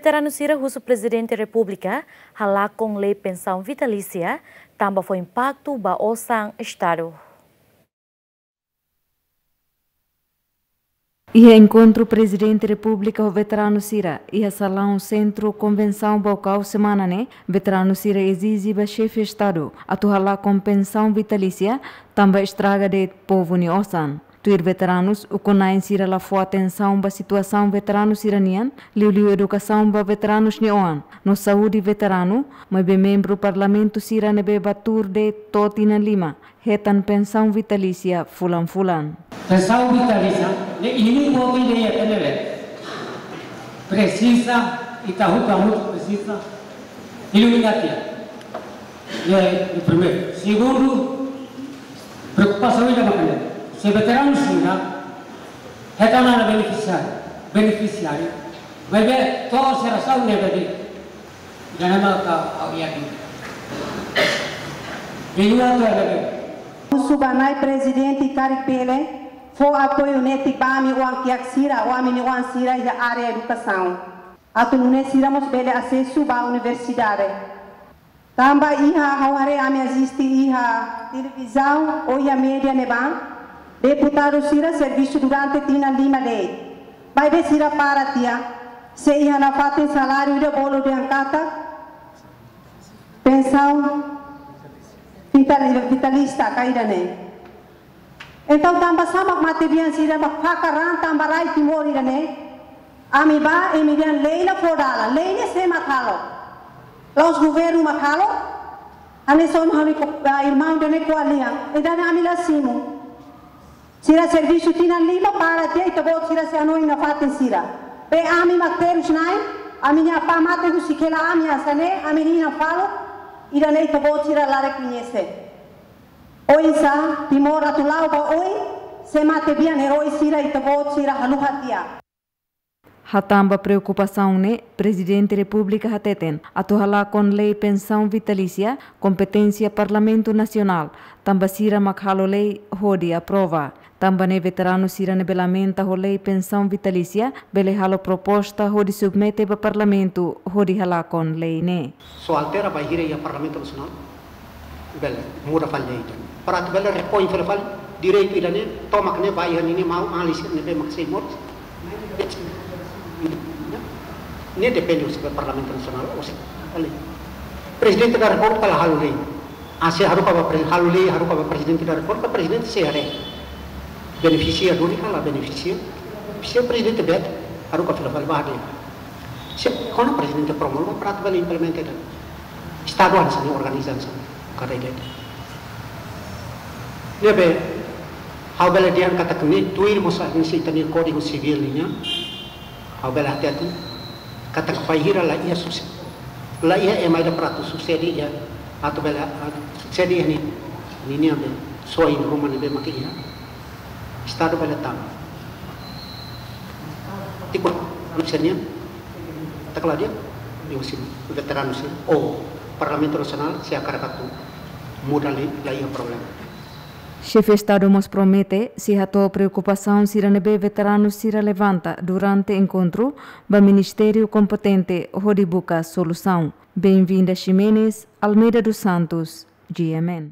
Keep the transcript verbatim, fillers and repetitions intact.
Veteranu sira husu Prezidente Repúblika halakon lei pensaun vitalísia, tanba fó impaktu ba osan Estadu. Iha enkontru Prezidente Repúblika ho veteranu sira iha salaun Sentru Konvensaun Baucau semana ne'e, veteranu sira ezije ba Xefe Estadu atu halakon pensaun vitalísia, tanba estraga de'it povu nia osan. Tuir veteranus, ukun-na'in sira la fó atensaun ba situasaun veteranu sira-nian, liuliu edukasaun ba veteranus nia oan no saúde veteranu, maibé membru Parlamentu sira ne'ebé bá tuur de'it to'o tinan lima hetan pensaun vitalísia fulan-fulan. Pensaun vitalísia, ne'e imi atu hatene, presiza, ita hotu hamutuk presiza iluminati. Ne'e, ne'e primeiru. Segundu, preokupasaun ida mak ne'e. Se veteranu sira hetan ona benefisiáriu, benefisiáriu, maibé to'o sira sa'e ne'ebé de'it. Ida-ne'e mak ha'u iha dúvida. Husu ba Na'i Prezidente karik bele fó apoiu netik ba ami oan-kiak sira, oan-mane oan sira iha área edukasaun. Atu nune'e sira mós bele asesu ba universidade. Tanba iha, ha'u haree ami asiste iha televizaun ou iha média ne'ebá, deputadu sira servisu durante tinan lima de'it. Maibé sira para tiha, se iha nafatin saláriu ida bolu dehan katak pensaun vital-, vitalísia ka ida-ne'e. Entaun, tanba sá mak matebian sira mak fakar raan tanba rai Timor ida-ne'e? Ami bá, imi dehan lei la fó dalan, lei ne'e sé mak halo? La'ós governu mak halo? Hanesan ohin ha'u-nia ko-, ah, irmaun ida-ne'e ko'alia. Ida-ne'e ami la simu. Sira servisu tinan lima para tiha, ita-boot sira sei hanoin nafatin sira. Be ami mak terus na'in, ami-nia apá mate husik hela ami hanesan ne'e, ami hinan falun, ida-ne'e ita-boot sira la rekoñese. Oinsá Timor atu la'o ba oin, se matebian eroi sira ita-boot sira haluha tiha. Hatán ba preokupasaun ne'e, Prezidente Repúblika hateten, atu halakon lei pensaun vitalísia, kompeténsia Parlamentu Nasionál, tanba sira mak halo lei hodi aprova. Tanba ne'e veteranu sira ne'ebé lamenta ho lei pensaun vitalísia, bele halo proposta hodi submete ba Parlamentu hodi halakon lei ne'e. Só altera bainhira iha Parlamentu Nasionál, bele muda fali lei ida-ne'e. Para atu bele repoin fali, fali direitu ida-ne'e, tomak ne'e ba iha ninia maun, alin sira ne'ebé mak sei moris. Ne'e depende husi Parlamentu Nasionál, husi lei. Prezidente da Repúblika la halo lei. Ah, se haruka ba pre-, halo lei, haruka ba Prezidente da Repúblika, Prezidente sei haree benefisia duni ka la benefisia. Se Prezidente bele haruka fila fali ba de'it. Se kona Prezidente promulga para atu bele implementa de'it. Estadu hanesan ne'e, organiza hanesan ne'e, kada ida. Ne'ebé, ha'u bele dehan katak ne'e tuir mós hanesan ita-nia Kódigu Sivíl nian. Ha'u bele hatete katak bainhira la iha suse-, la iha ema ida para atu susede iha, atu bele, ah, susede iha ni, ninian be, soin ruma ne'ebé mak iha. Estadu bele tama. Tipo, anu senior, tak la dia, dia husi veteranu sira, ou Parlamentu Nasionál, se hakarak atu muda lei, la iha problema. Xefe Estadu mós promete, sei hato'o preokupasaun sira ne'ebé veteranu sira levanta durante enkontru ba ministériu kompetente hodi buka solusaun. Benvinda Ximenes, Almeida dos Santos, G M N.